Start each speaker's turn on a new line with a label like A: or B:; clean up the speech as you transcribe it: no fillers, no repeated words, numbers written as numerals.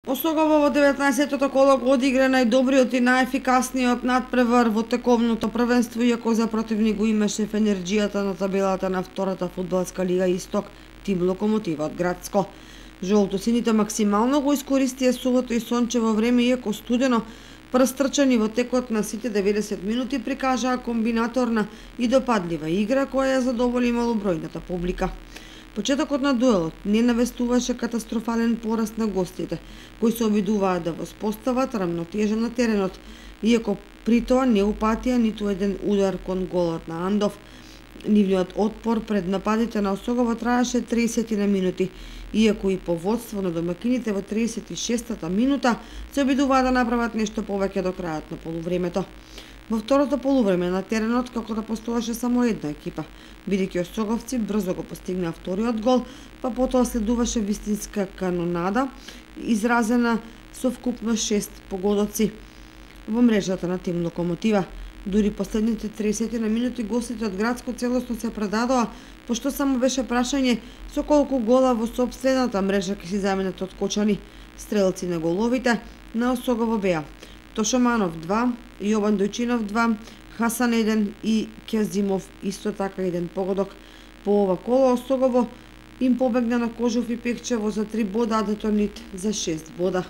A: Осогово во 19-тото коло го одигра најдобриот и најефикасниот надпревар во тековното првенство, иако за противник го имаше в енерџијата на табелата на втората фудбалска лига Исток, тим Локомотива од Градско. Жолтосините максимално го искористија сувото и сончево време, иако студено, прстрчани во текот на сите 90 минути, прикажаа комбинаторна и допадлива игра која ја задоволи малобројната публика. Почетокот на дуелот не навестуваше катастрофален пораст на гостите, кои се обидуваа да воспостават рамнотежа на теренот, иако при тоа не упатија ниту еден удар кон голот на Андов. Нивниот отпор пред нападите на Осогово траеше 30 на минути, иако и по водство на домакините во 36-та минута се обидуваа да направат нешто повеќе до крајот на полувремето. Во второто полувреме на теренот како да постоеше само една екипа, бидејќи осоговци брзо го постигнаа вториот гол, па потоа следуваше вистинска канонада, изразена со вкупно 6 погодоци во мрежата на тим Локомотива. Дури последните 30 на минути гостите од Градско целосно се предадоа, пошто само беше прашање со колку гола во сопствената мрежа ќе си заменат откочани. Стрелци на головите на Осогово беа Тошоманов 2, Јован Дојчинов 2, Хасан 1 и Кјазимов исто така еден погодок. По ова коло Осогово им побегна на Кожов и Пекчево за 3 бода, а Детонит за 6 бода.